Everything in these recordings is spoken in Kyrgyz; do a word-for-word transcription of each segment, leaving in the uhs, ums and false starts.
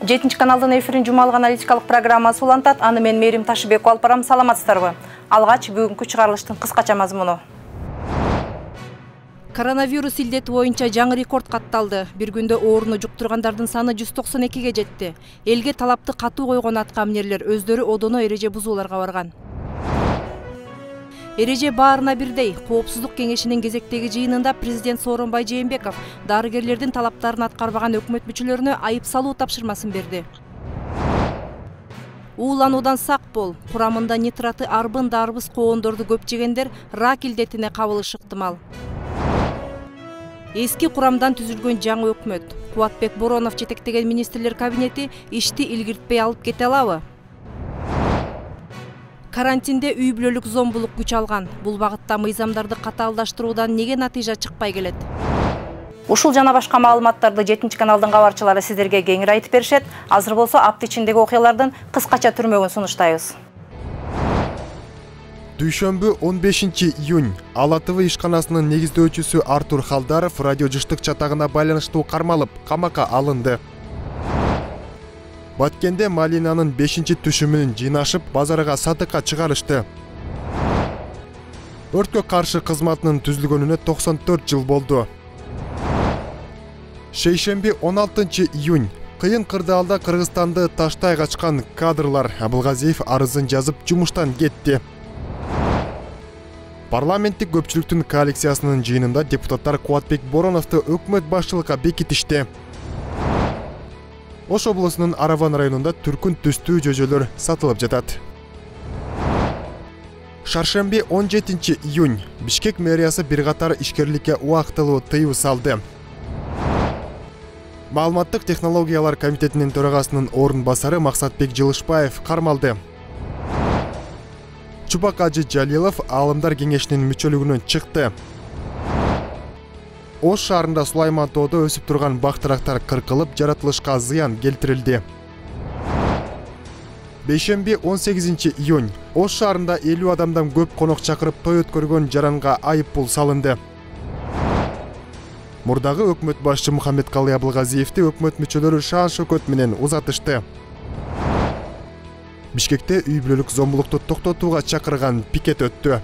жетинчи каналдын эфирин жумалык аналитикалык программасы улантат. Аны мен Мерим Ташыбекова алып барам. Саламатсыздарбы? Алгач бүгүнкү чыгарылыштын кыскача мазмуну. Коронавирус илдети боюнча жаңы рекорд катталды. Бир күндө ооруну жуктургандардын саны жүз токсон экиге жетти. Элге талапты катуу койгон аткаминерлер өздөрү одоно эреже бузууларга барган. Эреже баарына бирдей. Коопсуздук кеңешинин кезектеги жыйынында президент Сооронбай Жээнбеков дарыгерлердин талаптарын аткарбаган өкмөт мүчөлөрүнө айып салуу тапшырмасын берди. Уулануудан сак бол. Курамында нитраты арбын дарбыз коондорду көп жегендер рак илдетине кабылышы ыктымал. Эски курамдан түзүлгөн жаңы өкмөт. Кубатбек Боронов жетектеген министрлер кабинети ишти илгиртпей алып кете алабы? Карантинде үй бүлөлүк зомбулук күч алган. Бул багытта мыйзамдарды катаалдаштыруудан эмне натыйжа чыкпай келет? Ушул жана башка маалыматтарды жетинчи каналдын кабарчылары сиздерге кеңири айтып беришет. Азыр болсо апта ичиндеги окуялардын кыскача түрмөгүн сунуштайбыз. Дүйшөмбү он бешинчи июнь Ала ТВ ишканасынын негиздөөчүсү Артур Халдаров радио жыштык чатагына байланыштуу кармалып, камакка алынды. Баткенде малинанын бешинчи түшүмүн жыйнашып, базарга сатыкка чыгарышты. Өрткө каршы кызматынын түзүлгөнүнө токсон төрт жыл болду. Шейшемби он алтынчы июнь кыйын кырдаалда Кыргызстанды таштай качкан кадрлар Абылгазиев арызын жазып жумуштан кетти. Парламенттик көпчүлүктүн коалициясынын жыйынында депутаттар Кубатбек Бороновду өкмөт башчылыкка бекитишти. Ош облусунун Араван районунда түркүн түстүү жөжөлөр сатылып жатат. Шаршемби он жетинчи июнь Бишкек мэриясы бир катар ишкерликке убактылуу тыюу салды. Маалыматтык технологиялар комитетинин төрагасынын орун басары Максатбек Жылышбаев кармалды. Чубак Ажы Жалилов Аалымдар кеңешинин мүчөлүгүнөн чыкты. Ош шаарында Сулайман тоодо өсүп турган бактырактар кыркылып, жаратылышка зыян келтирилди. Бейшемби он сегизинчи июнь Ош шаарында элүү адамдан көп конок чакырып той өткөргөн жаранга айып пул салынды. Мурдагы өкмөт башчы Мухаммедкалый Абылгазиевди өкмөт мүчөлөрү шаан шөкөт менен узатышты. Бишкекте үй бүлөлүк зомбулукту токтотууга чакырган пикет өттү.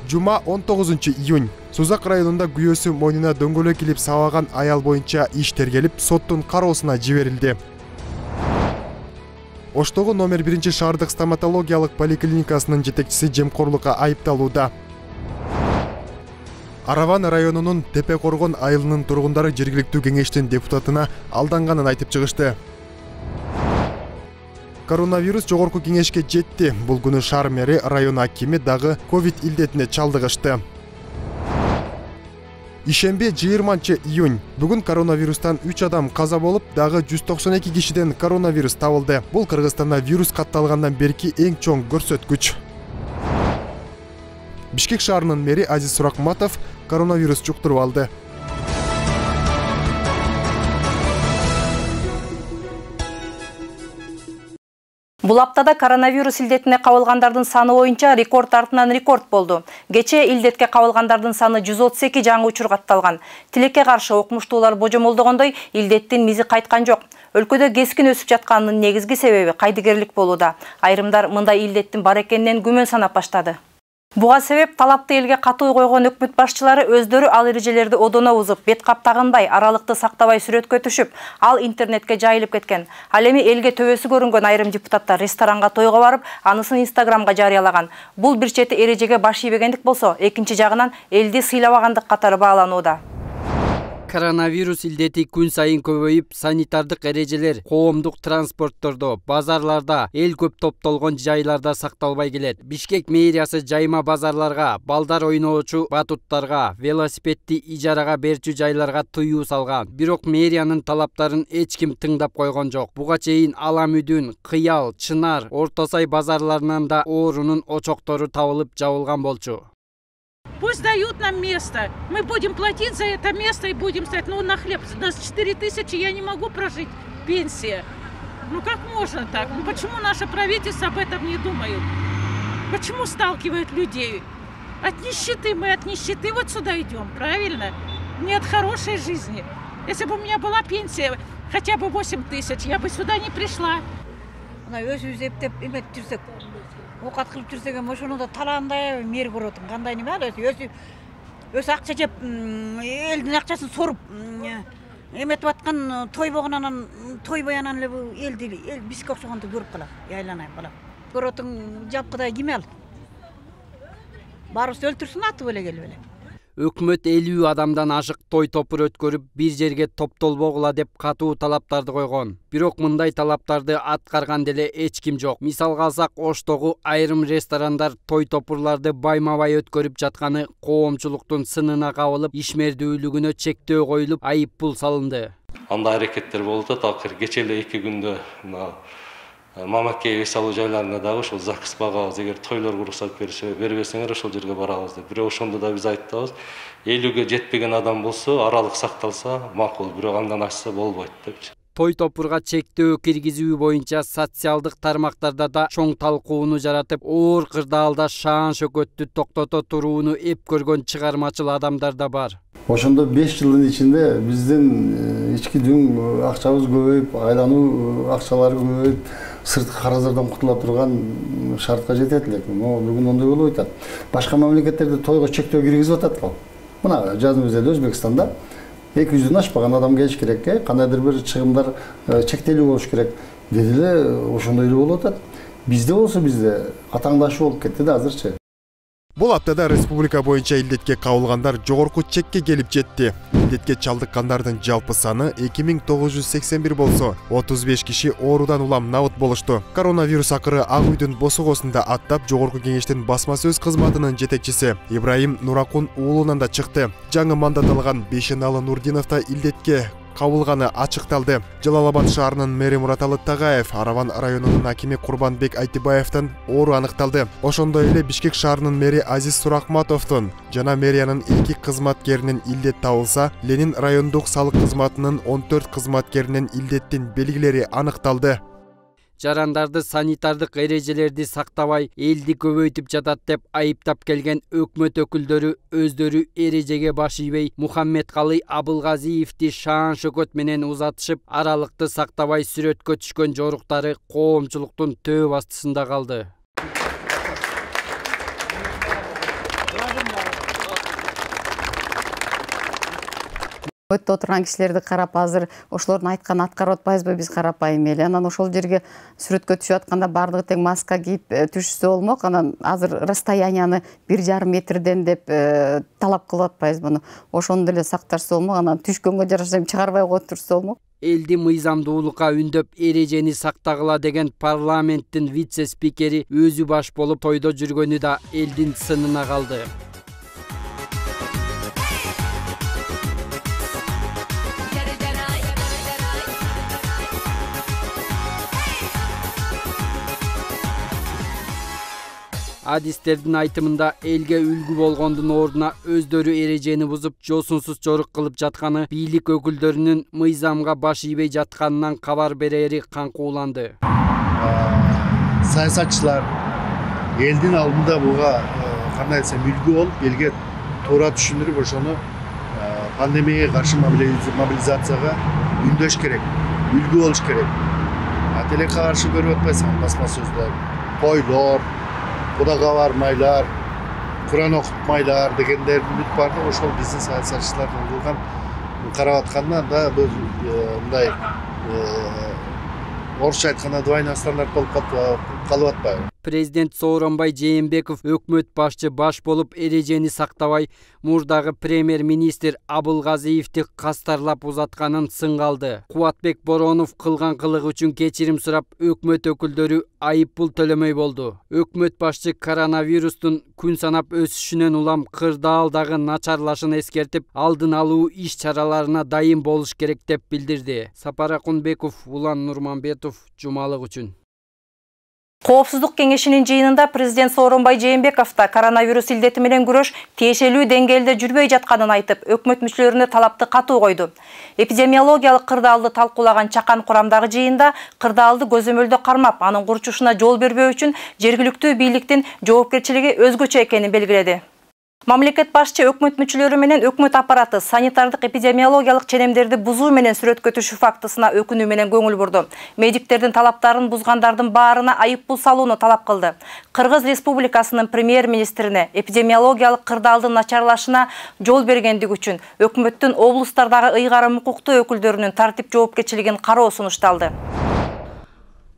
Жума он тогузунчу июнь Сузак районунда күйөөсү мойнуна дөңгөлөк илип сабаган аял боюнча иш тергелип, соттун кароосуна жиберилди. Оштогу номер биринчи шаардык стоматологиялык поликлиникасынын жетекчиси жемкорлукка айыпталууда. Араван районунун Тепе Коргон айылынын тургундары жергиликтүү кеңештин депутатына алданганын айтып чыгышты. Коронавирус жогорку кеңешке жетти. Бул күнү шаар мэри район акими дагы ковид илдетине чалдыгышты. Ишемби жыйырманчы июнь бүгүн коронавирустан үч адам каза болуп, дагы жүз токсон эки кишиден коронавирус табылды. Бул Кыргызстанда вирус катталгандан берки эң чоң көрсөткүч. Бишкек шаарынын мэри Азиз Суракматов коронавирус жуктуруп алды. Бул аптада коронавирус илдетине кабылгандардын саны боюнча рекорд артынан рекорд болду. Кечээ илдетке кабылгандардын саны жүз отуз эки жаңы учур катталган. Тилекке каршы окумуштуулар божомолдогондой, илдеттин мизи кайткан жок. Өлкөдө кескин өсүп жатканынын негизги себеби кайдыгерлик болууда. Айрымдар мындай илдеттин бар экенинен күмөн санап баштады. Буга себеп талапты элге катуу койгон өкмөт башчылары өздөрү ал эрежелерди одоно бузуп, бет кап тагынбай, аралыкты сактабай сүрөткө түшүп, ал интернетке жайылып кеткен. Ал эми элге төбөсү көрүнгөн айрым депутаттар ресторанга тойго барып, анысын Инстаграмга жарыялаган. Бул бир чети эрежеге баш ийбегендик болсо, экинчи жагынан элди сыйлабагандык катары бааланууда. Коронавирус илдети күн сайын көбөйүп, санитардык эрежелер коомдук транспорттордо, базарларда, эл көп топтолгон жайларда сакталбай келет. Бишкек мэриясы жайма базарларга, балдар ойноочу батуттарга, велосипедди ижарага берчү жайларга тыюу салган. Бирок мэриянын талаптарын эч ким тыңдап койгон жок. Буга чейин Ала Мүдүн, Кыял, Чынар, Орто Сай базарларынан да оорунун очоктору табылып жабылган болчу. Пусть дают нам место. Мы будем платить за это место и будем стоять. Ну, на хлеб. У нас четыре тысячи, я не могу прожить. Пенсия. Ну, как можно так? Ну, почему наше правительство об этом не думает? Почему сталкивают людей? От нищеты. Мы от нищеты вот сюда идем, правильно? Не от хорошей жизни. Если бы у меня была пенсия хотя бы восемь тысяч, я бы сюда не пришла. Мына өзүбүз эптеп эметип жүрсөк, оокат кылып жүрсөк эми ошону да талаандай мэр көрүп атам. Кандай неме ал өзү өзү өзү акча жеп, элдин акчасын соруп эметип аткан тойбогон анан тойбой анан эле бул элди эл бизге окшогонду көрүп калат. Айланайм балам. Көрүп атың жапкыдай ким ал? Баарыбызды өлтүрсүн атып эле келип эле. Өкмөт элүү адамдан ашык той топур өткөрүп, бир жерге топтолбогула деп катуу талаптарды койгон. Бирок мындай талаптарды аткарган деле эч ким жок. Мисалга алсак, Оштогу айрым ресторандар той топурларды байма-бай өткөрүп жатканы коомчулуктун сынына кабылып, ишмердүүлүгүнө чектөө коюлуп, айып пул салынды. Андай аракеттер болуп атат. Акыр кече эле эки күндө Мамакей эс алуу жайларында дагы ошол ЗАГС багабыз, эгер тойлор уруксат бербесеңер ошол жерге барабыз деп. Бирок ошондо да биз айтабыз, элүүгө жетпеген адам болсо, аралык сакталса макул, бирок андан ашса болбойт депчи. Той топурга чектөө киргизүү боюнча социалдык тармактарда да чоң талкууну жаратып, оор кырдаалда шаан шөкөттү токтото турууну эп көргөн чыгармачыл адамдар да бар. Ошондо беш жылдын ичинде биздин ички дүң акчабыз көбөйүп, айлануу акчалары көбөйүп, сырткы карыздардан кутула турган шартка жетет элек. Бүгүн ондой болуп атат. Башка мамлекеттерде тойго чектөө киргизип атат го. Мына жазымызда Өзбекстанда эки жүздөн ашпаган адам келиш керек, кандайдыр бир чыгымдар чектелүү болуш керек. Деди эле ошондой эле болуп атат. Бизде болсо бизде атаңдашуу болуп кетти да азырчы. Бул аптада республика боюнча илдетке кабылгандар жогорку чекке келип жетти. Илдетке чалдыккандардын жалпы саны эки миң тогуз жүз сексен бир болсо, отуз беш киши оорудан улам набыт болушту. Коронавирус акыры Ак үйдүн босогосунда аттап, жогорку кеңештин басма сөз кызматынын жетекчиси Ибраим Нуракун уулунан да чыкты. Жаңы мандат алган Бейшеналы Нурдинов да илдетке кабылганы ачыкталды. Жалал-Абад шаарынын мэри Мураталы Тагаев, Араван районунун акими Курбанбек Айтыбаевдин оору аныкталды. Ошондой эле Бишкек шаарынын мэри Азиз Сурахматовдун жана мэриянын эки кызматкеринин илдет табылса, Ленин райондук салык кызматынын он төрт кызматкеринин илдеттин белгилери аныкталды. Жарандарды санитардык эрежелерди сактабай, элди көбөйтүп жатат деп айыптап келген өкмөт өкүлдөрү өздөрү эрежеге баш ийбей, Мухаммедкалый Абылгазиевди шаан шөкөт менен узатышып, аралыкты сактабай сүрөткө түшкөн жоруктары коомчулуктун төө астысында калды. Өттө отурган кишилерди карап, азыр ошолордун айтканын аткарып атпайбызбы биз карапайым эле. Анан ошол жерге сүрөткө түшүп атканда бардыгы тең маска кийип түшүшсө болмок. Анан азыр расстоянияны бир жарым метрден деп талап кылып атпайбызбы. Ошону деле сакташса болмок. Анан түшкөнгө жараша чыгарбай коюп турса болмок. Элди мыйзамдуулукка үндөп, эрежени сактагыла деген парламенттин вице-спикери өзү баш болуп тойдо жүргөнү да элдин сынына калды. Адистердин айтымында элге үлгү болгондун ордуна өздөрү эрежени бузуп, жосунсуз жорук кылып жатканы, бийлик өкүлдөрүнүн мыйзамга баш ийбей жатканынан кабар берери каңкууланды. Саясатчылар элдин алдында буга кандай десем үлгү болуп, элге туура түшүндүрүп, ошону пандемияга каршы мобилизацияга үндөш керек, үлгү болуш керек. Тилекке каршы көрүп атпайсың, басма сөздөр, тойлор, Кудага бармайлар, Куран окутмайлар дегендер бүт бар да, ошол биздин саясатчылардын кылган карап атканда да мындай орусча айтканда двойной стандарт болуп калып атпайбы? Президент Сооронбай Жээнбеков өкмөт башчы баш болуп эрежени сактабай, мурдагы премьер-министр Абылгазиевди кастарлап узатканын сынга алды. Кубатбек Боронов кылган кылыгы үчүн кечирим сурап, өкмөт өкүлдөрү айып пул төлөмөй болду. Өкмөт башчы коронавирустун күн санап өсүшүнөн улам кырдаалдагы начарлашын эскертип, алдын алуу иш чараларына дайым болуш керек деп билдирди. Сапар Акунбеков, Улан Нурманбетов, Жумалык үчүн. Коопсуздук кеңешинин жыйынында президент Сооронбай Жээнбеков да коронавирус илдети менен күрөш тиешелүү деңгээлде жүрбөй жатканын айтып, өкмөт мүчөлөрүнө талапты катуу койду. Эпидемиологиялык кырдаалды талкуулаган чакан курамдагы жыйында кырдаалды көзөмөлдө кармап, анын курчушуна жол бербөө үчүн жергиликтүү бийликтин жоопкерчилиги өзгөчө экенин белгиледи. Мамлекет башчы өкмөт мүчөлөрү менен өкмөт аппараты санитардык эпидемиологиялык ченемдерди бузуу менен сүрөткө түшүү фактысына өкүнүү менен көңүл бурду. Медиктердин талаптарын бузгандардын баарына айыппул салууну талап кылды. Кыргыз Республикасынын премьер-министрине эпидемиологиялык кырдаалдын начарлашына жол бергендик үчүн өкмөттүн облустардагы ыйгарым укуктуу өкүлдөрүнүн тартип жоопкерчилигин кароо сунушталды.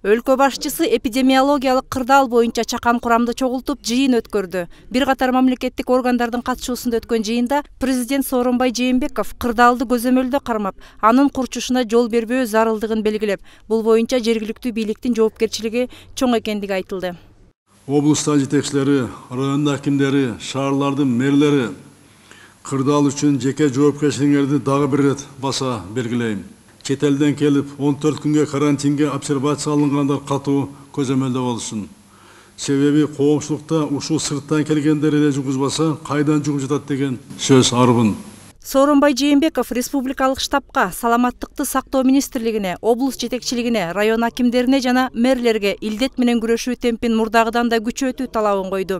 Өлкө башчысы эпидемиологиялык кырдаал боюнча чакан курамды чогултуп жыйын өткөрдү. Бир катар мамлекеттик органдардын катышуусунда өткөн жыйында президент Сооронбай Жээнбеков кырдаалды көзөмөлдө кармап, анын курчушуна жол бербөө зарылдыгын белгилеп, бул боюнча жергиликтүү бийликтин жоопкерчилиги чоң экендиги айтылды. Облустан жетекчилери, район акимдери, шаарлардын мэрлери кырдаал үчүн жеке жоопкерчиликтерди дагы бир ирет баса белгилейм. Чет элден келип он төрт күнгө карантинге обсервация алынгандар катуу көзөмөлдө болсун. Себеби коомчулукта ушул сырттан келгендер эле жугузбаса, кайдан жугуп жатат деген сөз арбын. Сооронбай Жээнбеков республикалык штабка, саламаттыкты сактоо министрлигине, облус жетекчилигине, район акимдерине жана мэрлерге илдет менен күрөшүү темпин мурдагыдан да күчөтүү талабын койду.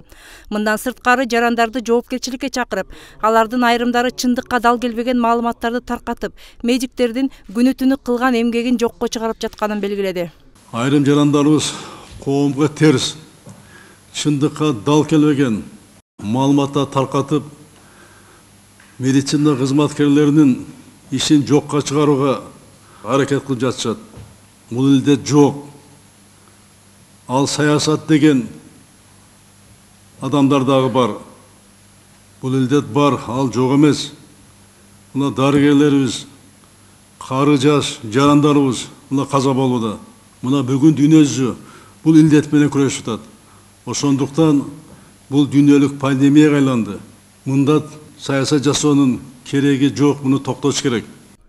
Мындан сырткары жарандарды жоопкерчиликке чакырып, алардын айрымдары чындыкка дал келбеген маалыматтарды таркатып, медиктердин күнү түнү кылган эмгегин жокко чыгарып жатканын белгиледи. Айрым жарандарыбыз коомго терс, чындыкка дал келбеген маалыматтар таркатып, медицина кызматкерлеринин ишин жокко чыгарууга аракет кылып жатышат. Бул илдет жок. Ал саясат деген адамдар дагы бар. Бул илдет бар, ал жок эмес. Мына дарыгерлерибиз, кары жаш жарандарыбыз мына каза болууда. Мына бүгүн дүйнө жүзү бул илдет менен күрөшүп жатат. Ошондуктан бул дүйнөлүк пандемияга айланды. Мында саясат жасоонун кереги жок, муну токтотуш керек.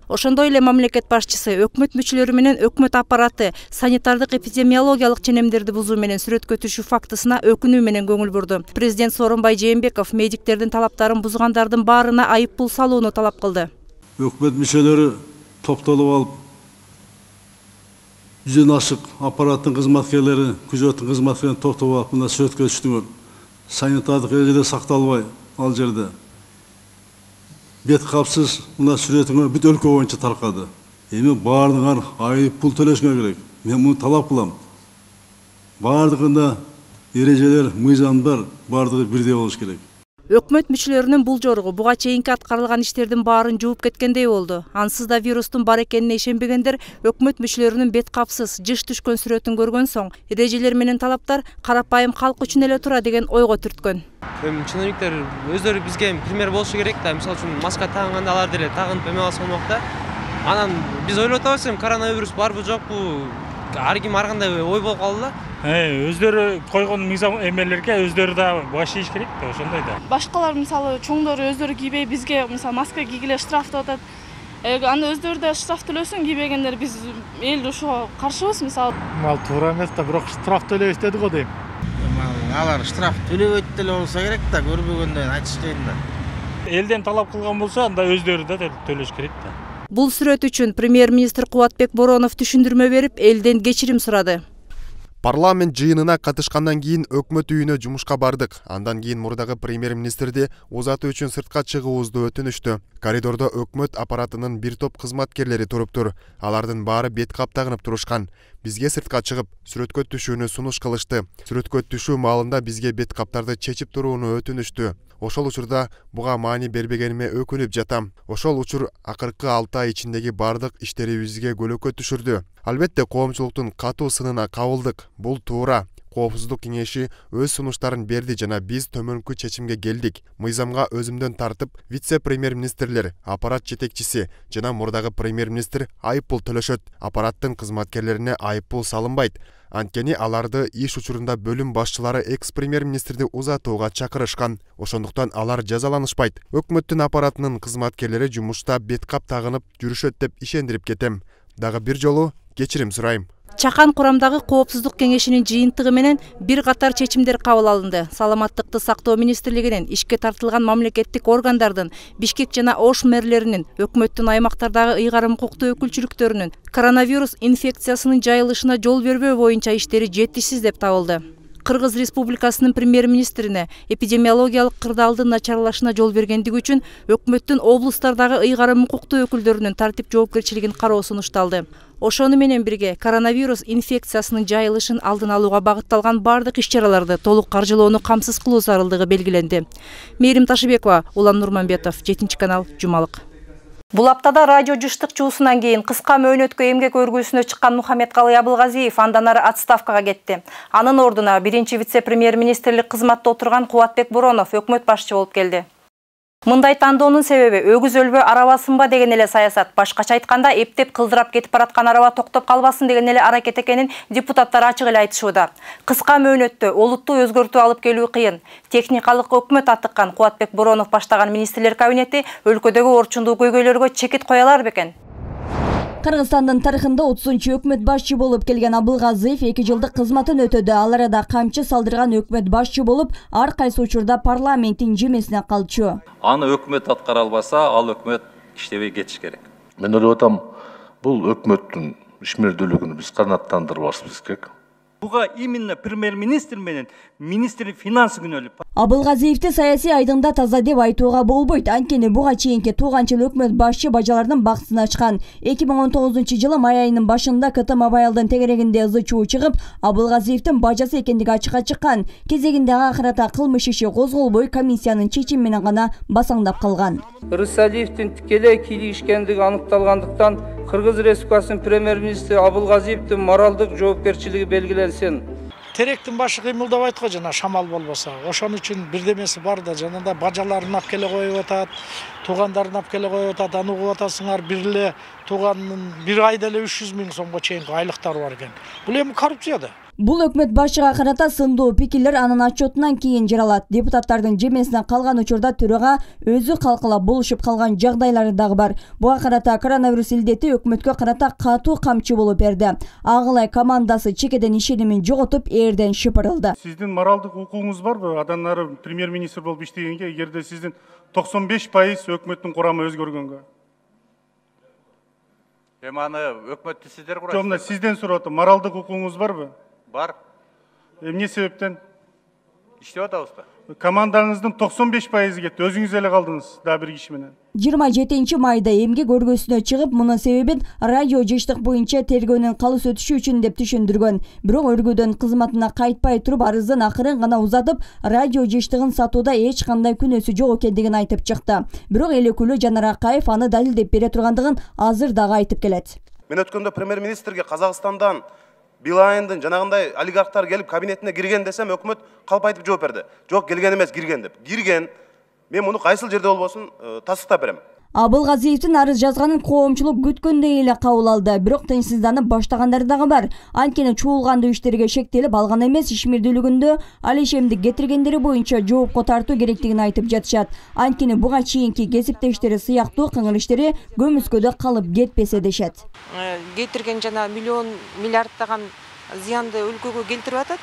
Ошондой эле мамлекет башчысы өкмөт мүчөлөрү менен өкмөт аппараты санитардык эпидемиологиялык ченемдерди бузуу менен сүрөткө түшүү фактысына өкүнүү менен көңүл бурду. Президент Сооронбай Жээнбеков медиктердин талаптарын бузгандардын баарына айыппул салууну талап кылды. Өкмөт мүчөлөрү топтолуп алып, жүздөн ашык аппараттын кызматкерлери, күзөттүн кызматкерлерин топтолуп алып, мына сүрөткө түштүңөр. Санитардык эрежелер сакталбай ал жерде. Бет капсыз мына сүрөтүңөр бүт өлкө боюнча таркады. Эми баардыгыңар айыппул төлөшүңөр керек. Мен муну талап кылам. Баардыгында эрежелер, мыйзамдар баардыгы бирдей болуш керек. Өкмөт мүчөлөрүнүн бул жоругу буга чейинки аткарылган иштердин баарын жууп кеткендей болду. Ансыз да вирустун бар экенине ишенбегендер өкмөт мүчөлөрүнүн бет капсыз, жыш түшкөн сүрөтүн көргөн соң, эрежелер менен талаптар карапайым калк үчүн эле тура деген ойго түрткөн. Эми чиновниктер өздөрү бизге пример болушу керек да, мисалы үчүн маска тагынганда алар деле тагынып эме алса болмок да. Анан биз ойлоп атабыз, эми коронавирус барбы жокпу, ар ким ар кандай ой болуп калды да. Өздөрү койгон мыйзам эмелерге өздөрү да баш ийиш керек да, ошондой да. Башкалар мисалы чоңдору өздөрү кийбей бизге мисалы маска кийгиле штраф деп атат. Анда өздөрү да штраф төлөсүн, кийбегендер биз эл ушуга каршыбыз мисалы. Ал туура эмес да, бирок штраф төлөйбүз деди го дейм. Алар штраф төлөбөйт деле болсо керек да, көрбөгөндөн айтышпайын да. Элден талап кылган болсо, анда өздөрү да төлөш керек да. Бул сүрөт үчүн премьер-министр Кубатбек Боронов түшүндүрмө берип, элден кечирим сурады. Парламент жыйынына катышкандан кийин өкмөт үйүнө жумушка бардык. Андан кийин мурдагы премьер-министрди узатуу үчүн сыртка чыгуубузду өтүнүштү. Коридордо өкмөт аппаратынын бир топ кызматкерлери туруптур. Алардын баары бет кап тагынып турушкан. Бизге сыртка чыгып, сүрөткө түшүүнү сунуш кылышты. Сүрөткө түшүү маалында бизге бет каптарды чечип турууну өтүнүштү. Ошол учурда буга маани бербегениме өкүнүп жатам. Ошол учур акыркы алты ай ичиндеги бардык иштерибизге көлөкө түшүрдү. Албетте коомчулуктун катуу сынына кабылдык. Бул туура. Коопсуздук кеңеши өз сунуштарын берди жана биз төмөнкү чечимге келдик. Мыйзамга өзүмдөн тартып, вице-премьер-министрлер, аппарат жетекчиси жана мурдагы премьер-министр айыппул төлөшөт. Аппараттын кызматкерлерине айыппул салынбайт. Анткени аларды иш учурунда бөлүм башчылары экс-премьер-министрди узатууга чакырышкан. Ошондуктан алар жазаланышпайт. Өкмөттүн аппаратынын кызматкерлери жумушта бет кап тагынып жүрүшөт деп ишендирип кетем. Дагы бир жолу кечирим сурайм. Чакан курамдагы коопсуздук кеңешинин жыйынтыгы менен бир катар чечимдер кабыл алынды. Саламаттыкты сактоо министрлигинин, ишке тартылган мамлекеттик органдардын, Бишкек жана Ош мэрлеринин, өкмөттүн аймактардагы ыйгарым укуктуу өкүлчүлүктөрүнүн коронавирус инфекциясынын жайылышына жол бербөө боюнча иштери жетишсиз деп табылды. Кыргыз Республикасынын премьер-министрине эпидемиологиялык кырдаалдын начарлашына жол бергендиги үчүн өкмөттүн облустардагы ыйгарым укуктуу өкүлдөрүнүн тартип жоопкерчилигин кароо сунушталды. Ошону менен бирге коронавирус инфекциясынын жайылышын алдын алууга багытталган бардык иш-чараларды толук каржылоону камсыз кылуу зарылдыгы белгиленди. Мээрим Ташыбекова, Улан Нурманбетов, жетинчи канал, Жумалык. Бул аптада радио жыштык чуусунан кийин кыска мөөнөткө эмгек өргүүсүнө чыккан Мухаммедкалый Абылгазиев андан ары отставкага кетти. Анын ордуна биринчи вице-премьер-министрлик кызматта отурган Кубатбек Боронов өкмөт башчы болуп келди. Мындай тандоонун себеби өгүз өлбө арабасынба деген эле саясат. Башкача айтканда, эптеп кылдырап кетип бараткан араба токтоп калбасын деген эле аракет экенин депутаттар ачык эле айтышууда. Кыска мөөнөттө олуттуу өзгөртүү алып келүү кыйын. Техникалык өкмөт аттыккан Кубатбек Боронов баштаган министрлер кабинети өлкөдөгү орчундуу көйгөйлөргө чекит коялар бекен? Кыргызстандын тарыхында отузунчу өкмөт башчы болуп келген Абылгазиев эки жылдык кызматын өтөдү. Ал арада камчы салдырган өкмөт башчы болуп, ар кайсы учурда парламенттин жемесине калчу. Аны өкмөт аткара албаса, ал өкмөт иштебей кетиш керек. Мен ойлоп атам, бул өкмөттүн ишмердүүлүгүн биз канааттандырбашыбыз керек. Буга именно премьер-министр менен министр финансы күнөөлүп. Абылгазиевди саясий айдыңда таза деп айтууга болбойт. Анткени буга чейинки тууган жыл өкмөт башчы бажалардын бактысын ачкан. эки миң он тогузунчу жылы май айынын башында КТ Мобайлдын тегерегинде ызы чуу чыгып, Абылгазиевдин бажасы экендиги ачыкка чыккан. Кезегинде ага карата кылмыш иши козголбой, комиссиянын чечими менен гана басаңдап калган. Рысалиевдин тикелей кийлигишкендиги аныкталгандыктан Кыргыз Республикасынын премьер-министри Абылгазиевдин моралдык жоопкерчилиги белгиленсин. Теректин башы кыймылдабайт го жана шамал болбосо. Ошон үчүн бирдемеси бар да, жанында бажаларын алып келе коюп атат, туугандарын алып келе коюп атат, аны угуп атасыңар, бир эле тууганын бир айда эле үч жүз миң сомго чейинки айлыктары бар экен. Бул эми коррупция да. Бул өкмөт башчыга карата сындуу пикирлер анын отчетунан кийин жаралат. Депутаттардын жемесине калган учурда төрага өзү калкалап болушуп калган жагдайлары дагы бар. Буга карата коронавирус илдети өкмөткө карата катуу камчы болуп берди. Агылай командасы чекеден ишенимин жоготуп, эрден шыпырылды. Сиздин моралдык укугуңуз барбы? Адан ары премьер-министр болуп иштегенге, эгерде сиздин токсон беш пайыз өкмөттүн курамы өзгөргөнгө? Эми аны өкмөттү сиздер курасыздар. Жок, мына сизден сурап атам, моралдык укугуңуз барбы? Бар. Эмне себептен? Иштеп атабызбы? Командаңыздын токсон беш пайызы кетти. Өзүңүз эле калдыңыз, да бир киши менен. жыйырма жетинчи майда эмгек өргөсүнө чыгып, мунун себебин радио жыштык боюнча тергөөнүн калыс өтүшү үчүн деп түшүндүргөн. Бирок өргөдөн кызматына кайтпай туруп, арыздын акырын гана узатып, радио жыштыгын сатууда эч кандай күнөөсү жок экендигин айтып чыкты. Бирок эл өкүлү Жанар Акаев аны далилдеп бере тургандыгын азыр дагы айтып келет. Мен өткөндө премьер-министрге Казакстандан Билайындын жанагындай олигархтар келип кабинетине кирген десем, өкмөт калп айтып жооп берди. Жок, келген эмес, кирген деп. Кирген. Мен муну кайсыл жерде болбосун тастыктап берем. Абылгазиевдин арыз жазганын коомчулук күткөндөй эле кабыл алды. Бирок тынчсызданып баштагандар дагы бар. Анткени чуулгандуу иштерге шектелип алган эмес, ишмердүүлүгүндө алишемдик кетиргендери боюнча жоопко тартуу керектигин айтып жатышат. Анткени буга чейинки кесиптештери сыяктуу кыңыр иштери көмүскөдө калып кетпесе дешет. Кетирген жана миллион миллиардтаган зыянды өлкөгө келтирип атат.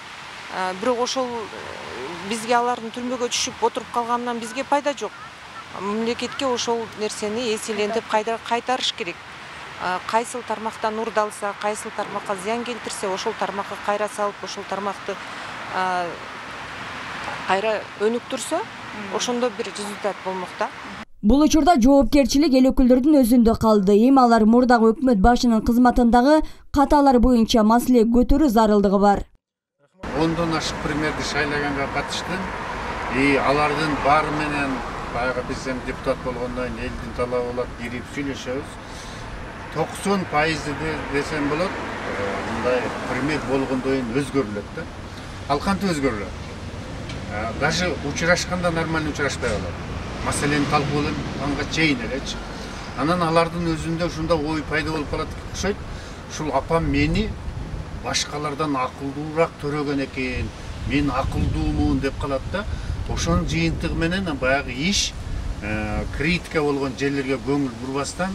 Бирок ошол бизге алардын түрмөгө түшүп отуруп калганынан бизге пайда жок. Мамлекетке ошол нерсени эселентип кайтарыш керек. Кайсыл тармактан урдалса, кайсыл тармакка зыян келтирсе, ошол тармакка кайра салып, ошол тармакты кайра өнүктүрсө, ошондо бир результат болмок да. Бул учурда жоопкерчилик эл өкүлдөрүнүн өзүндө калды. Эми алар мурдагы өкмөт башынын кызматындагы каталар боюнча маселе көтөрүү зарылдыгы бар. Ондон ашык премьерди шайлаганга катыштым. И алардын баары менен баягы биз эми депутат болгондон кийин элдин талабы болот, кирип сүйлөшөбүз. токсон пайызы десем болот, мындай премьер болгондон кийин өзгөрүлөт да. Ал кантип өзгөрүлөт? Даже учурашканда нормально учурашпай калат. Маселени талкуулап анга чейин элечи. Анан алардын өзүндө ушундай ой пайда болуп калат окшойт. Ушул апам мени башкалардан акылдуураак төрөгөн экен, мен акылдуумун деп калат да. Ошонун жыйынтыгы менен баягы иш критика болгон жерлерге көңүл бурбастан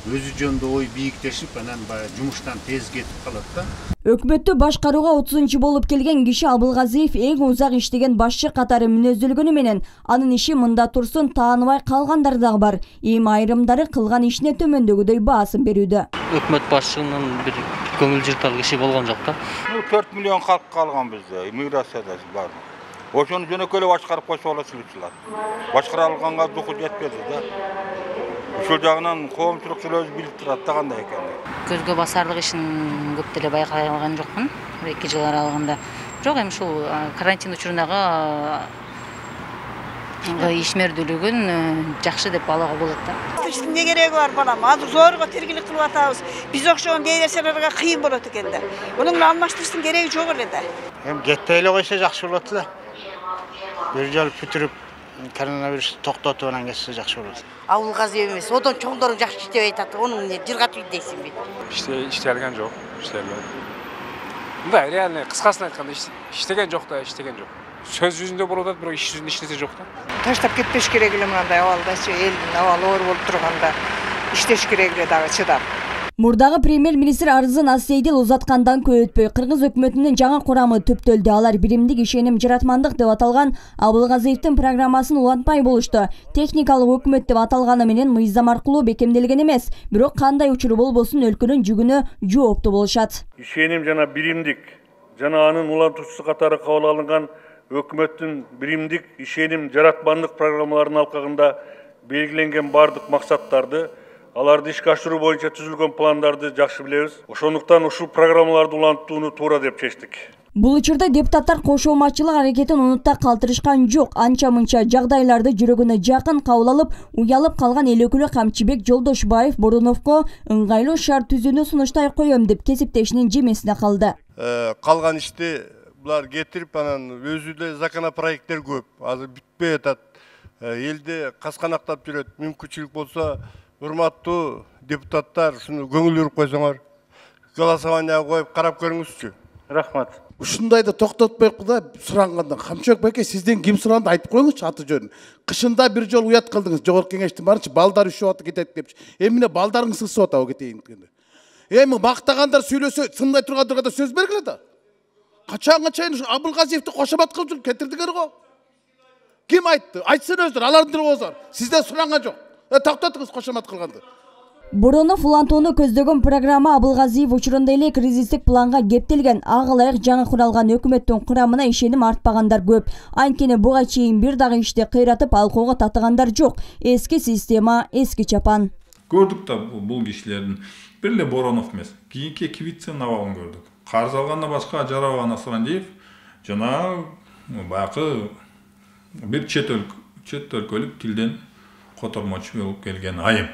өзү жөнүндө ой бийиктешип, анан баягы жумуштан тез кетип калат да. Өкмөттү башкарууга отузунчу болуп келген киши Абылгазиев эң узак иштеген башчы катары мүнөздөлгөнү менен анын иши мында турсун тааныбай калгандар дагы бар. Эми айрымдары кылган ишине төмөндөгүдөй баасын берүүдө. Өкмөт башчынын бир көңүл жыртар киши болгон жок да. төрт миллион халк калган бизде, миграцияда бар. Ошону жөнөкөй эле башкарып койсо болот чылчылар. Башкара алганга духу жетпеди да. Ошол жагынан коомчулук өзү билип турат да кандай экенин. Көзгө басарлык ишин көп деле байкай алган жокмун эки жыл аралыгында. Бирок эми ушул карантин учурунага ишмердүүлүгүн жакшы деп балага болот да. Иштин не кереги бар балам? Азыр зорго тиргилик кылып атабыз. Биз окшогон дей нерселерге кыйын болот экен да. Мунун менен алмаштырыштын кереги жок эле да. Эми жетпей эле койсо жакшы болот эле. Бир жол бүтүрүп коронавирусту токтотуп анан кетсе жакшы болот. Абылгазиев эмес, одон чоңдору жакшы иштебей атат. Онун эмне жыргатып дейсиңби? Иште иштелген жок, иштелбеди. Мындай реально кыскасын айтканда иштеген жок да, иштеген жок. Сөз жүзүндө болуп атат, бирок иш жүзүндө иштесе жок да. Таштап кетпеш керек эле мындай абалдачы, элдин абалы оор болуп турганда иштеш керек эле дагы чыдап. Мурдагы премьер-министр арызын Аз-Сейдил узаткандан көп өтпөй Кыргыз өкмөтүнүн жаңы курамы түптөлдү. Алар биримдик ишеним жаратмандык деп аталган Абылгазиевдин программасын улантпай болушту. Техникалык өкмөт деп аталганы менен мыйзам аркылуу бекемделген эмес, бирок кандай учур болбосун өлкөнүн жүгүнө жооптуу болушат. Ишеним жана биримдик жана анын улантуучусу катары кабыл алынган өкмөттүн биримдик ишеним жаратмандык программаларынын алкагында белгиленген бардык максаттарды, аларды ишке ашыруу боюнча түзүлгөн пландарды жакшы билебиз. Ошондуктан ушул программаларды улантууну туура деп чечтик. Бул учурда депутаттар кошомачылык аракетин унутта калтырышкан жок. Анча-мынча жагдайларды жүрөгүнө жакын кабыл алып, уялып калган эл өкүлү Камчыбек Жолдошбаев Бороновго ыңгайлуу шарт түзүүнү сунуштай коем деп кесиптешинин жемесине калды. Калган ишти булар кетирип, анан өзү эле законопроекттер көп. Азыр бүтпөй атат. Элди касканактап жүрөт. Мүмкүнчүлүк болсо, урматтуу депутаттар, ушуну көңүл буруп койсоңор, голосованияга коюп карап көрүңүзчү. Рахмат. Ушундайды токтотпойуп да суранганда Камчыбек байке сизден ким суранды айтып коюңузчу аты жөнүн. Кышында бир жол уят кылдыңыз, жогорку кеңештин барынча балдар үшүп атып кетет депчи. Эмне балдарыңыз ысып атабы кетейин дегенде. Эми мактагандар сүйлөсө, сындай тургандарга сөз бергиле да. Качанга чейин Абылгазиевди кошомат кылып жүрүп кетирдиңер го. Ким айтты? Айтсын өздөрү, алардын тили озор. Сизден суранган жок. Токтотуңуз кошомат кылганды. Боронов улантууну көздөгөн программа Абылгазиев учурунда эле кризистик планга кептелген. Ага ылайык жаңы куралган өкмөттүн курамына ишеним артпагандар көп. Анткени буга чейин бир дагы ишти кыйратып алкууга татыгандар жок. Эски система, эски чапан. Көрдүк да бул кишилердин бир эле Боронов эмес, кийинки эки вице-навалын көрдүк. Карыз алганда башка Жарабан Асрандиев жана баягы бир чет өлкөлүк тилден котормочу болуп келген айым.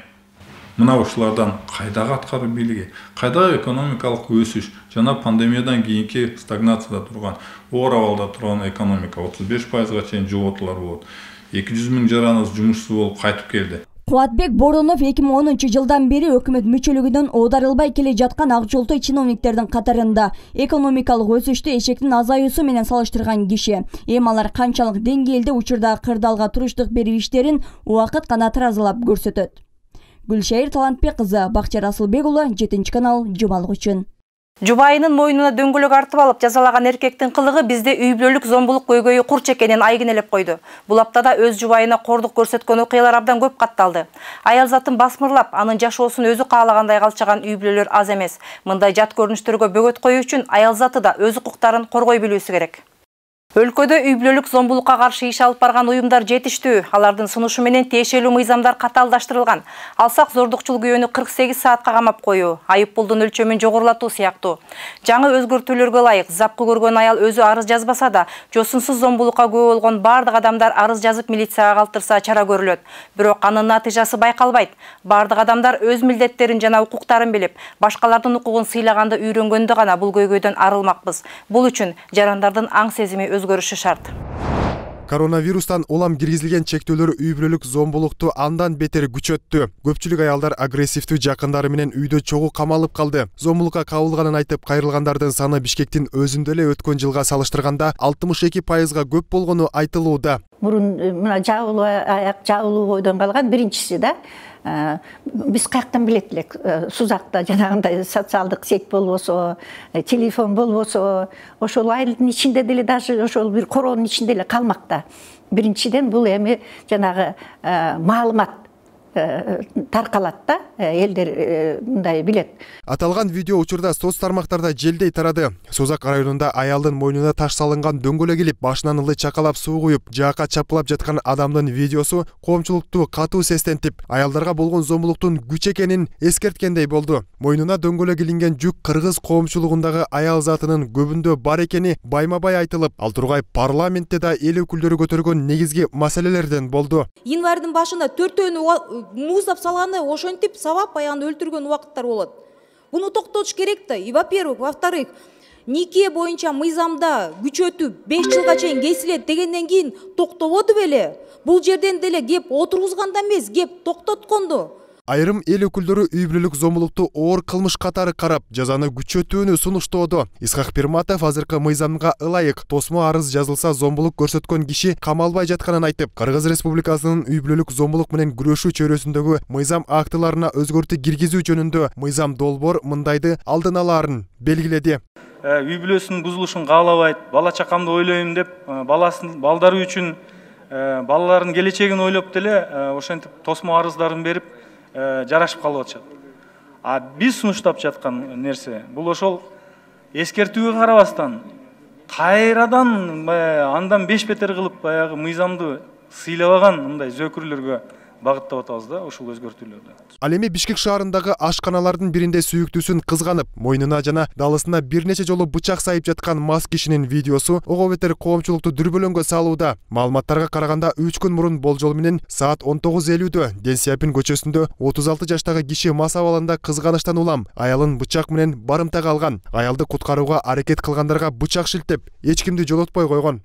Мына ушулардан кайдагы аткаруу бийлиги, кайдагы экономикалык өсүш жана пандемиядан кийинки стагнацияда турган, оор абалда турган экономика отуз беш пайызга чейин жоготуулар болот. эки жүз миң жараныбыз жумушсуз болуп кайтып келди. Кубатбек Боронов эки миң онунчу жылдан бери өкмөт мүчөлүгүнөн оодарылбай келе жаткан ак жолтой чиновниктердин катарында. Экономикалык өсүштү эшектин азаюусу менен салыштырган киши. Эми алар канчалык деңгээлде учурда кырдаалга туруштук берип иштерин убакыт гана таразалап көрсөтөт. Гүлшайыр Талантбек кызы, Бакчар Асылбек уулу, жетинчи канал, жубалык үчүн. Жубайынын мойнуна дөңгөлөк артып алып жазалаган эркектин кылыгы бизде үй бүлөлүк зомбулук көйгөйү курч экенин айгинелеп койду. Бул аптада өз жубайына кордук көрсөткөн окуялар абдан көп катталды. Аял затын басмырлап, анын жашоосун өзү каалагандай калчаган үй бүлөлөр аз эмес. Мындай жат көрүнүштөргө бөгөт коюу үчүн аял заты да өз укуктарын коргой билүүсү керек. Өлкөдө үй бүлөлүк зомбулукка каршы иш алып барган уюмдар жетиштүү. Алардын сунушу менен тиешелүү мыйзамдар катаалдаштырылган. Алсак зордукчул күйөөнү кырк сегиз саатка камап коюу, айып пулдун өлчөмүн жогорулатуу сыяктуу. Жаңы өзгөртүүлөргө ылайык запкы көргөн аял өзү арыз жазбаса да, жосунсуз зомбулукка күбө болгон бардык адамдар арыз жазып милицияга калтырса чара көрүлөт. Бирок анын натыйжасы байкалбайт. Бардык адамдар өз милдеттерин жана укуктарын билип, башкалардын укугун сыйлаганды үйрөнгөндө гана бул көйгөйдөн арылмакпыз. Бул үчүн жарандардын аң сезими өзгөрүшү шарт. Коронавирустан улам киргизилген чектөөлөр үй бүлөлүк зомбулукту андан бетер күчөттү. Көпчүлүк аялдар агрессивдүү жакындары менен үйдө чогуу камалып калды. Зомбулукка кабылганын айтып кайрылгандардын саны Бишкектин өзүндө эле өткөн жылга салыштырганда алтымыш эки пайызга көп болгону айтылууда. Мурун мына жабылуу аяк, жабылуу бойдон калган биринчиси да. Биз каяктан билет элек, Сузакта жанагындай социалдык сеть болбосо, телефон болбосо, ошол айылдын ичинде деле даже ошол бир короонун ичинде эле калмакта. Биринчиден бул эми жанагы маалымат таркалат да, элдер мындай билет. Аталган видео учурда соц тармактарда желдей тарады. Созак районунда аялдын мойнуна таш салынган дөңгөлө келип, башынан ылы чакалап суу куюп, жаакка чапкылап жаткан адамдын видеосу коомчулукту катуу сестентип, аялдарга болгон зомбулуктун күч экенин эскерткендей болду. Мойнуна дөңгөлө килинген жүк кыргыз коомчулугундагы аял затынын көбүндө бар экени байма-бай айтылып, ал тургай парламентте да эл өкүлдөрү көтөргөн негизги маселелерден болду. Январьдын башында төртөөнү муздап салганы ошентип сабап баягы өлтүргөн убакыттар болот. Буну токтотуш керек да. И во-первых, во-вторых, нике боюнча мыйзамда күчөтүп беш жылга чейин кесилет дегенден кийин токтободу беле. Бул жерден деле кеп отургузганда эмес, кеп токтотконду. Айрым эл өкүлдөрү үй бүлөлүк зомбулукту оор кылмыш катары карап, жазаны күчөтүүнү сунуштоодо. Исхак Пирматов азыркы мыйзамга ылайык тосмо арыз жазылса зомбулук көрсөткөн киши камалбай жатканын айтып, Кыргыз Республикасынын үй бүлөлүк зомбулук менен күрөшүү чөйрөсүндөгү мыйзам актыларына өзгөртүү киргизүү жөнүндө мыйзам долбоор мындайды алдын алаарын белгиледи. Үй бүлөсүнүн бузулушун каалабайт, бала чакамды ойлойм деп, баласын балдары үчүн балалардын келечегин ойлоп деле ошентип тосмо арыздарын берип жарашып калып атышат. А биз сунуштап жаткан нерсе бул ошол эскертүүгө карабастан кайрадан андан беш бетер кылып баягы мыйзамды сыйлабаган мындай зөөкүрлөргө багыттап атабыз да ошол өзгөртүүлөрдү. Ал эми Бишкек шаарындагы ашканалардын биринде сүйүктүүсүн кызганып, мойнуна жана далысына бир нече жолу бычак сайып жаткан мас кишинин видеосу ого бетер коомчулукту дүрбөлөңгө салууда. Маалыматтарга караганда үч күн мурун болжол менен саат он тогуз элүүдө Ден Сяпин көчөсүндө отуз алты жаштагы киши мас абалында кызганыштан улам аялын бычак менен барымтага алган. Аялды куткарууга аракет кылгандарга бычак шилтеп, эч кимди жолотпой койгон.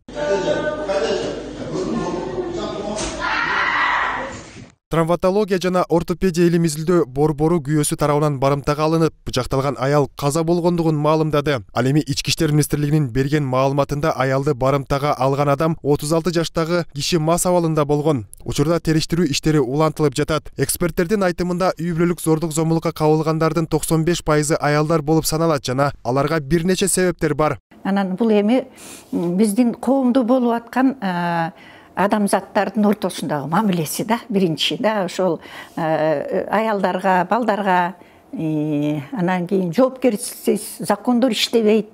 Травматология жана ортопедия илимизилдөө борбору күйөөсү тарабынан барымтага алынып, бычакталган аял каза болгондугун маалымдады. Ал эми Ички иштер министрлигинин берген маалыматында аялды барымтага алган адам отуз алты жаштагы киши мас абалында болгон. Учурда териштирүү иштери улантылып жатат. Эксперттердин айтымында үй бүлөлүк зордук зомбулукка кабылгандардын токсон беш пайызы аялдар болуп саналат жана аларга бир нече себептер бар. Анан бул эми биздин коомдо болуп аткан адамзаттардын ортосундагы мамилеси да, биринчи да, ошол аялдарга, балдарга, анан кийин жоопкерчиликсиз закондор иштебейт,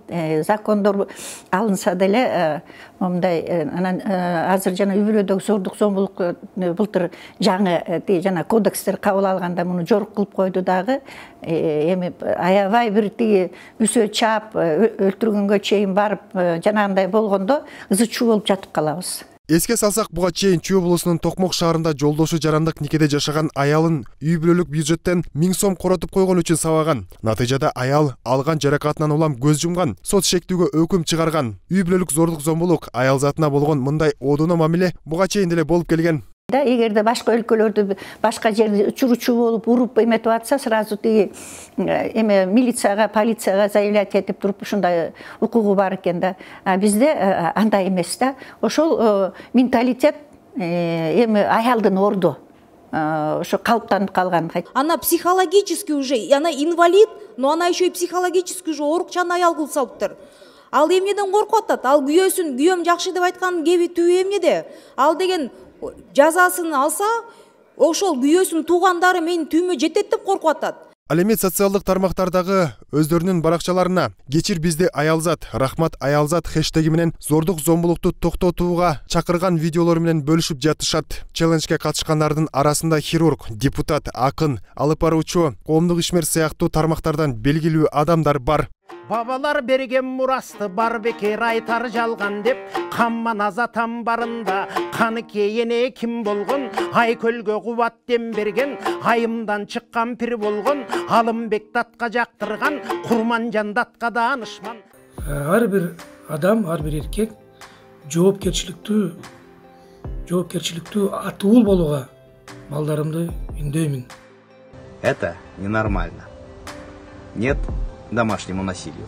закондор алынса деле мындай анан азыр жана үй бүлөдөгү зордук зомбулук былтыр жаңы жана кодекстер кабыл алганда муну жорук кылып койду дагы. Эми аябай бир тиги үсө чаап өлтүргөнгө чейин барып жанагындай болгондо ызы чуу болуп жатып калабыз. Эске салсак, буга чейин Чүй облусунун Токмок шаарында жолдошу жарандык никеде жашаган аялын үй бүлөлүк бюджеттен миң сом коротуп койгон үчүн сабаган. Натыйжада аял алган жаракатынан улам көз жумган, сот шектүүгө өкүм чыгарган. Үй бүлөлүк зордук зомбулук, аял затына болгон мындай одуно мамиле буга чейин деле болуп келген. Да, эгерде башка өлкөлөрдө башка жерде учуручу болуп уруп эметип атса, сразу тиги эме милицияга, полицияга заявлять этип туруп ушундай укугу бар экен да. А бизде андай эмес да. Ошол менталитет эми аялдын орду ошо калыптанып калган. Она психологически уже, она инвалид, но она еще и психологически уже оорукчан аял кылып салыптыр. Ал эмнеден коркуп атат? Ал күйөөсүн, күйөөм жакшы деп айткан кеби түбү эмнеде? Ал деген жазасын алса, ошол күйөөсүн туугандары менин түймө жетет деп коркуп атат. Ал эми социалдык тармактардагы өздөрүнүн баракчаларына "Кечир бизди аялзат, рахмат аялзат" хэштеги менен зордук зомбулукту токтотууга чакырган видеолор менен бөлүшүп жатышат. Челленджге катышкандардын арасында хирург, депутат, акын, алып баруучу, коомдук ишмер сыяктуу тармактардан белгилүү адамдар бар. Бабалар берген мурасты бар бекер айтар жалган деп, камман азатам барында каны кейене ким болгон, Айкөлгө кубат дем берген, айымдан чыккан пир болгон, Алымбек датка жактырган, Курманжан датка даанышман. Ар бир адам, ар бир эркек жоопкерчиликтүү жоопкерчиликтүү атуул болууга балдарымды үндөймүн. Это ненормально. Нет домашнему насилию.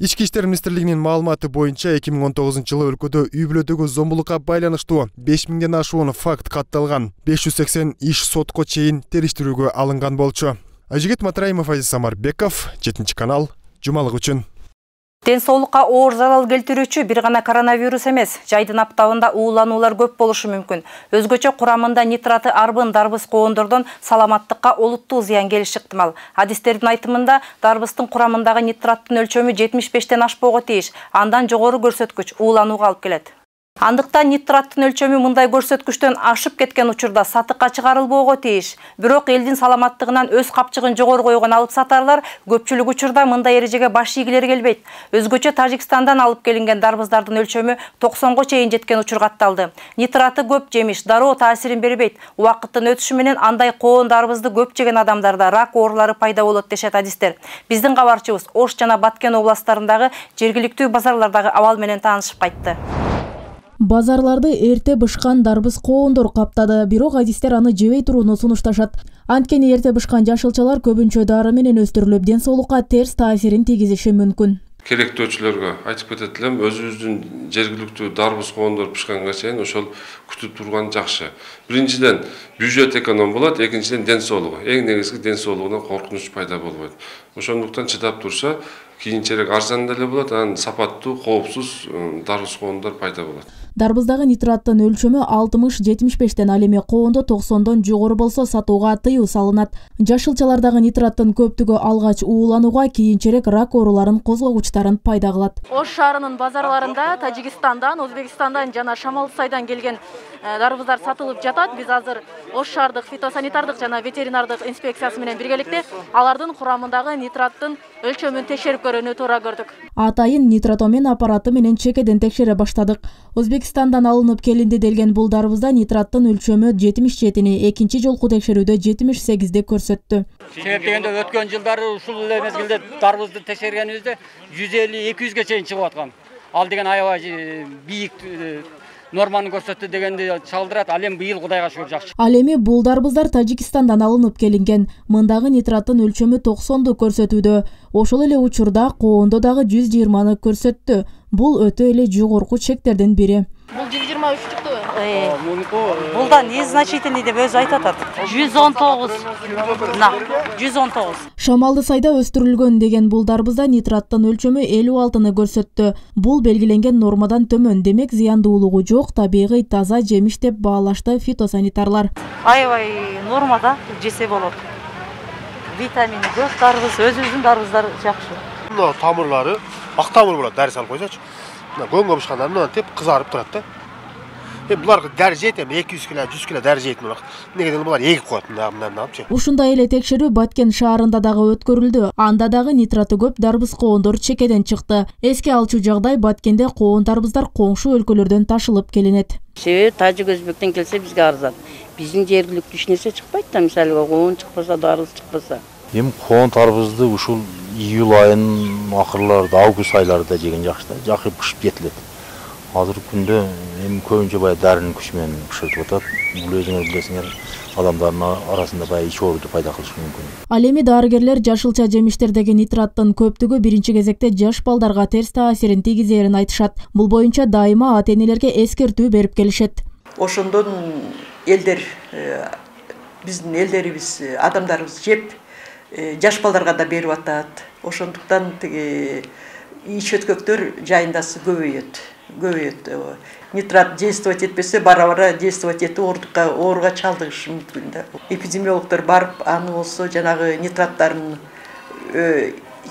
Ички иштер министрлигинин маалыматы боюнча эки миң он тогузунчу жылы өлкөдө үй бүлөдөгү зомбулукка байланыштуу беш миңден ашуун факт катталган. беш жүз сексен иш сотко чейин териштирүүгө алынган болчу. Ажигит Матраимов, Азиз Самарбеков, жетинчи канал, жумалык үчүн. Ден соолукка оор зарал келтирүүчү бир гана коронавирус эмес, жайдын аптабында уулануулар көп болушу мүмкүн. Өзгөчө курамында нитраты арбын дарбыз коондордон саламаттыкка олуттуу зыян келиши ыктымал. Адистердин айтымында дарбыздын курамындагы нитраттын өлчөмү жетимиш бештен ашпоого тийиш, андан жогору көрсөткүч ууланууга алып келет. Андыктан нитраттын өлчөмү мындай көрсөткүчтөн ашып кеткен учурда сатыкка чыгарылбоого тийиш. Бирок элдин саламаттыгынан өз капчыгын жогору койгон алып сатарлар көпчүлүк учурда мындай эрежеге баш ийгилери келбейт. Өзгөчө Тажикстандан алып келинген дарбыздардын өлчөмү токсонго чейин жеткен учур катталды. Нитраты көп жемиш дароо таасирин бербейт. Убакыттын өтүшү менен андай коон дарбызды көп жеген адамдарда рак оорулары пайда болот дешет адистер. Биздин кабарчыбыз Ош жана Баткен областтарындагы жергиликтүү базарлардагы абал менен таанышып кайтты. Базарларды эрте бышкан дарбыз коондор каптады, бирок адистер аны жебей турууну сунушташат. Анткени эрте бышкан жашылчалар көбүнчө дары менен өстүрүлүп, ден соолукка терс таасирин тийгизиши мүмкүн. Керектөөчүлөргө айтып кетет элем, өзүбүздүн жергиликтүү дарбыз коондор бышканга чейин ошол күтүп турган жакшы. Биринчиден бюджет эконом болот, экинчиден ден соолугу. Эң негизги ден соолугунан коркунуч пайда болбойт. Ошондуктан чыдап турса, кийинчерээк арзан деле болот, анан сапаттуу, коопсуз дарбыз коондор пайда болот. Дарбыздагы нитраттын өлчөмү алтымыш жетимиш бештен, ал эми коондо токсондон жогору болсо сатууга тыюу салынат. Жашылчалардагы нитраттын көптүгү алгач ууланууга, кийинчерээк рак ооруларын козгогучтарын пайда кылат. Ош шаарынын базарларында Тажикстандан, Өзбекстандан жана Шамал Сайдан келген дарбыздар сатылып жатат. Биз азыр Ош шаардык фитосанитардык жана ветеринардык инспекциясы менен биргеликте алардын курамындагы нитраттын өлчөмүн текшерип көрүүнү туура көрдүк. Атайын нитротомен аппараты менен чекеден текшере баштадык. Өзбекстандан алынып келинди делген бул дарбызда нитраттын өлчөмү жетимиш жетини, экинчи жолку текшерүүдө жетимиш сегизди көрсөттү. Себеп дегенде өткөн жылдары ушул эле мезгилде дарбызды текшергенибизде жүз элүү эки жүзгө чейин чыгып аткан. Ал деген аябай бийик норманы көрсөттү дегенди чалдырат. Ал эми быйыл Кудайга шүгүр жакшы. Ал эми бул дарбыздар Тажикстандан алынып келинген. Мындагы нитраттын өлчөмү токсонду көрсөтүүдө. Ошол эле учурда коондо дагы жүз жыйырманы көрсөттү. Бул өтө эле жогорку чектердин бири. Бул жүз жыйырма үч чыкты. Булда незначительный деп өзү айтып атат. жүз он тогуз. На, жүз он тогуз. Шамалды Сайда өстүрүлгөн деген бул дарбызда нитраттын өлчөмү элүү алтыны көрсөттү. Бул белгиленген нормадан төмөн, демек зыяндуулугу жок, табигый таза жемиш деп баалашты фитосанитарлар. Аябай нормада жесе болот. Витамини көп дарбыз, өзүбүздүн дарбыздар жакшы. Мына тамырлары ак тамыр болот, дәрі салып койсочу. Мына көңгө бышканда мына теп кызарып турат да. Эми буларга дәрі жейт, эми эки жүз кило, жүз кило дәрі жейт булар. Негеден булар эгип коет мына мына апчы. Ушундай эле текшерүү Баткен шаарында дагы өткөрүлдү. Анда дагы нитраты көп дарбыз коондор чекеден чыкты. Эске алчу жагдай Баткенде коон дарбыздар коңшу өлкөлөрдөн ташылып келинет. Себеби Тажик Өзбектен келсе бизге арзан. Биздин жергиликтүү эч нерсе чыкпайт да, мисалы коон чыкпаса, дарбыз чыкпаса. Эми коон дарбызды ушул июль айынын акырларында, август айларында жеген жакшы да, жакшы бышып жетилет. Азыркы күндө эми көбүнчө бая дарынын күчү менен бышыртып атат. Бул өзүңөр билесиңер, адамдардын арасында бая ич ооруду пайда кылышы мүмкүн. Ал эми дарыгерлер жашылча жемиштердеги нитраттын көптүгү биринчи кезекте жаш балдарга терс таасирин тийгизерин айтышат. Бул боюнча дайыма ата-энелерге эскертүү берип келишет. Ошондон элдер, биздин элдерибиз, адамдарыбыз жеп жаш балдарга да берип атат. Ошондуктан тиги ич өткөктөр жайындасы көбөйөт. көбөйөт. Нитрат действовать этпесе, бара-бара действовать этип оорукка ооруга чалдыгышы мүмкүн да. Эпидемиологдор барып, аны болсо жанагы нитраттарын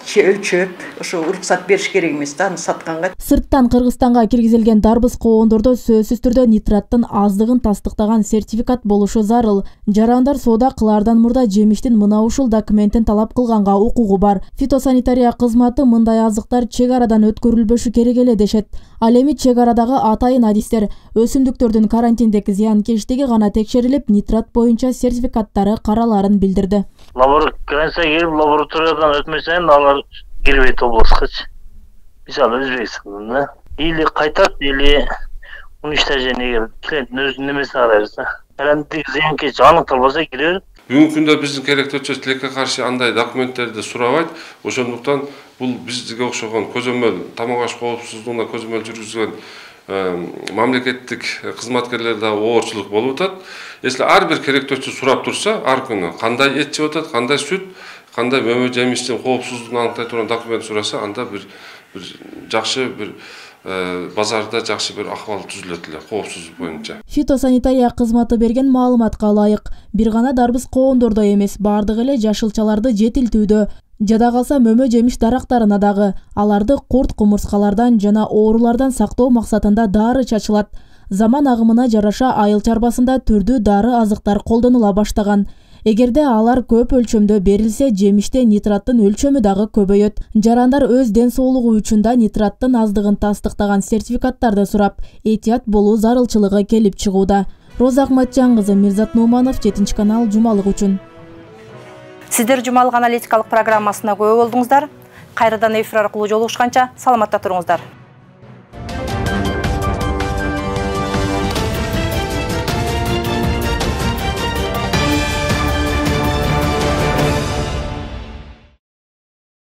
өлчөп, ошо уруксат бериш керек эмес да, аны сатканга. Сырттан Кыргызстанга киргизилген дарбыз коондордо сөзсүз түрдө нитраттын аздыгын тастыктаган сертификат болушу зарыл. Жарандар соода кылаардан мурда жемиштин мына ушул документин талап кылганга укугу бар. Фитосанитария кызматы мындай азыктар чек арадан өткөрүлбөшү керек эле дешет. Ал эми чек арадагы атайын адистер өсүмдүктөрдүн карантиндеги зыянкечтиги гана текшерилип, нитрат боюнча сертификаттары караларын билдирди. Границага кирип, лабораториядан өтмөсөң, алар кирбейт областка. Мисалы Өзбекстанда или кайтат, или уничтожение клиенттин өзүнүн немесине карайбыз да. Карантиндеги зыянкеч аныкталбаса кире берет. Бүгүнкү күндө биздин керектөөчү тилекке каршы андай документтерди сурабайт. Ошондуктан бул бизге окшогон көзөмөл тамак аш коопсуздугуна көзөмөл жүргүзгөн мамлекеттик кызматкерлер да оорчулук болуп атат. Если ар бир керектөөчү сурап турса, ар күнү кандай эт жеп атат, кандай сүт, кандай мөмө жемиштин коопсуздугун аныктай турган документ сураса, анда бир бир жакшы бир базарда жакшы бир акыбал түзүлөт эле коопсуздук боюнча. Фитосанитария кызматы берген маалыматка ылайык, бир гана дарбыз коондордо эмес, бардык эле жашылчаларды жетилтүүдө, жада калса мөмө жемиш дарактарына дагы аларды курт кумурскалардан жана оорулардан сактоо максатында дары чачылат. Заман агымына жараша айыл чарбасында түрдүү дары азыктар колдонула баштаган. Эгерде алар көп өлчөмдө берилсе, жемиште нитраттын өлчөмү дагы көбөйөт. Жарандар өз ден соолугу үчүн да нитраттын аздыгын тастыктаган сертификаттарды сурап, этият болуу зарылчылыгы келип чыгууда. Роза Акматжан кызы, Мирзат Нуманов, жетинчи канал, жумалык үчүн. Сиздер жумалык аналитикалык программасына күбө болдуңуздар. Кайрадан эфир аркылуу жолугушканча саламатта туруңуздар.